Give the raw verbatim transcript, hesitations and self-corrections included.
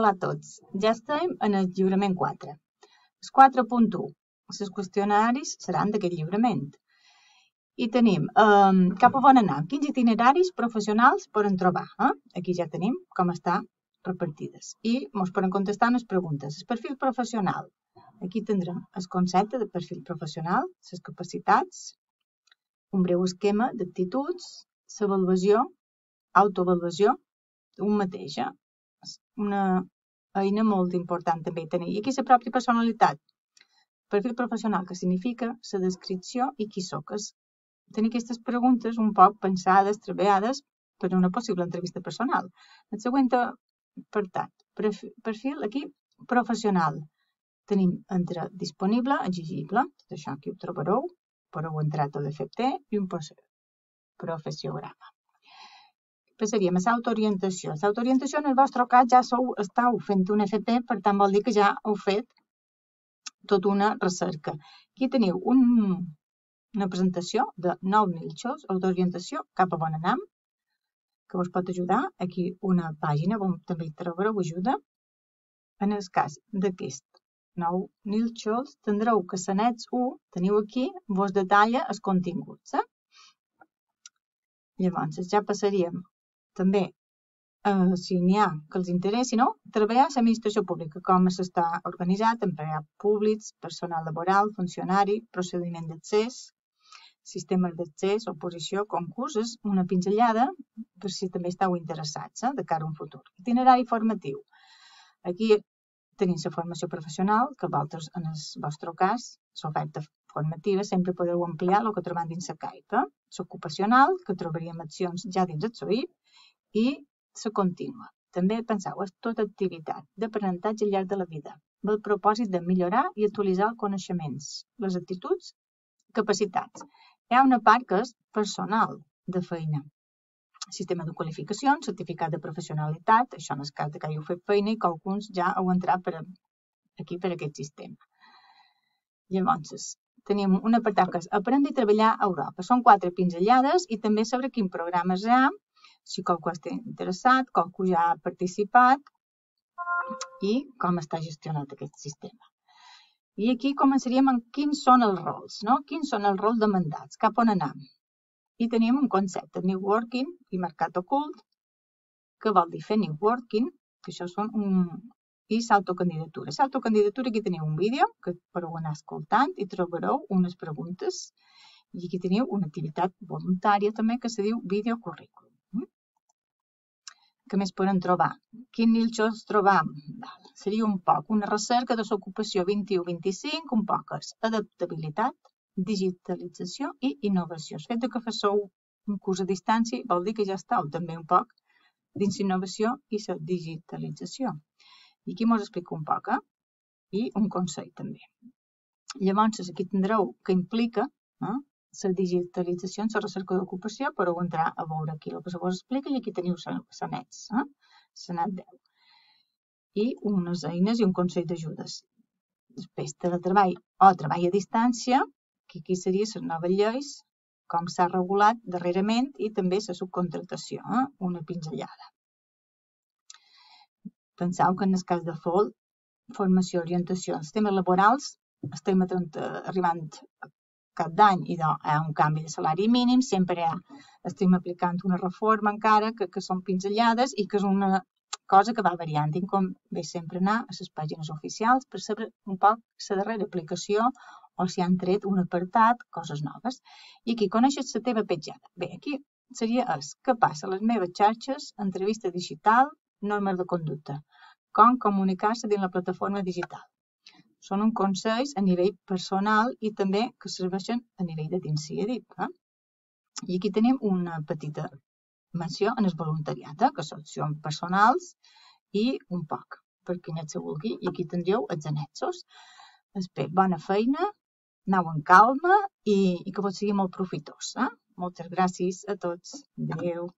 Hola a tots. Ja estem en el lliurament quatre. El quatre punt u. Els qüestionaris seran d'aquest lliurament. I tenim um, cap a on anar, quins itineraris professionals poden trobar. Eh? Aquí ja tenim com està repartides. I ens poden contestar unes preguntes. El perfil professional. Aquí tindrem el concepte de perfil professional, les capacitats, un breu esquema d'actituds, l'avaluació, autoavaluació, un mateix. Eh? Una eina molt important també tenir. I aquí la pròpia personalitat. Perfil professional, que significa la descripció i qui soc. Tenir aquestes preguntes un poc pensades, treballades per a una possible entrevista personal. El següent apartat, perfil aquí professional. Tenim entre disponible, exigible, tot això aquí ho trobareu, podeu entrar a l'F T i un professiograma. Passaríem a l'autoorientació. L'autoorientació en el vostre cas ja sou, estàu fent un F T, per tant vol dir que ja heu fet tota una recerca. Aquí teniu un, una presentació de nou nilxos, autoorientació, cap a on anem, que us pot ajudar. Aquí una pàgina on també hi trobareu ajuda. En el cas d'aquest nou nilxos, tindreu que l'annex u, teniu aquí, vos detalla els continguts. Eh? Llavors, ja passaríem també, eh, si n'hi ha que els interessi, no? Treballar a l'administració pública, com s'està organitzat, empleats públics, personal laboral, funcionari, procediment d'accés, sistemes d'accés, oposició, concursos, una pinzellada, per si també esteu interessats, eh, de cara a un futur. Itinerari formatiu. Aquí tenim la formació professional, que vosaltres, en el vostre cas, l'oferta formativa, sempre podeu ampliar el que trobem dins la CAIP. Eh? L'ocupacional, que trobaríem accions ja dins el S O I P, i la contínua. També penseu, és tota activitat d'aprenentatge al llarg de la vida, amb el propòsit de millorar i actualitzar els coneixements, les actituds, capacitats. Hi ha una part que és personal de feina. Sistema de qualificacions, certificat de professionalitat, això en el cas que heu fet feina i que alguns ja heu entrat per aquí per aquest sistema. Llavors, tenim un apartat que és aprendre i treballar a Europa. Són quatre pinzellades i també sobre quin programes hi ha, si qualcú està interessat, qualcú ja ha participat i com està gestionat aquest sistema. I aquí començaríem amb quins són els rols, no? Quins són els rols demandats, cap on anem. I tenim un concepte, New Working i mercat ocult, que vol dir fer New Working, que això són un... i l'autocandidatura. L'autocandidatura, aquí teniu un vídeo que podeu anar escoltant i trobareu unes preguntes. I aquí teniu una activitat voluntària també que se diu videocurrículum. Què més podem trobar? Quin nilxos trobam? Seria un poc una recerca de l'ocupació vint-i-u vint-i-cinc, un poc és adaptabilitat, digitalització i innovació. El fet que fasseu un curs a distància vol dir que ja esteu també un poc dins l'innovació i la digitalització. I aquí us explico un poc, eh? I un consell també. Llavors, aquí tindreu que implica eh? la digitalització en la recerca d'ocupació, podeu entrar a veure aquí el que se vos explica i aquí teniu l'annex, eh? l'annex deu. I unes eines i un consell d'ajudes. Després, teletreball o treball a distància, que aquí seria les noves lleis, com s'ha regulat darrerament i també la subcontractació, eh? una pinzellada. Penseu que en el cas de F O L, formació, orientació, els temes laborals, estem arribant a cap d'any i hi ha un canvi de salari mínim, sempre hi ha, estem aplicant una reforma encara que, que són pinzellades i que és una cosa que va variant. I com ve sempre anar a les pàgines oficials per saber un poc la darrera aplicació o si han tret un apartat, coses noves. I aquí coneixes la teva petjada. Bé, aquí seria es, què passa a les meves xarxes, entrevista digital, normes de conducta, com comunicar-se dins la plataforma digital. Són uns consells a nivell personal i també que serveixen a nivell de dins C I D I P. Eh? I aquí tenim una petita menció en el voluntariat, eh? que són accions personals i un poc, per qui net se vulgui. I aquí tindríeu els annexos. Espero bona feina, aneu amb calma i, i que vos sigui molt profitós. Eh? Moltes gràcies a tots. Adéu.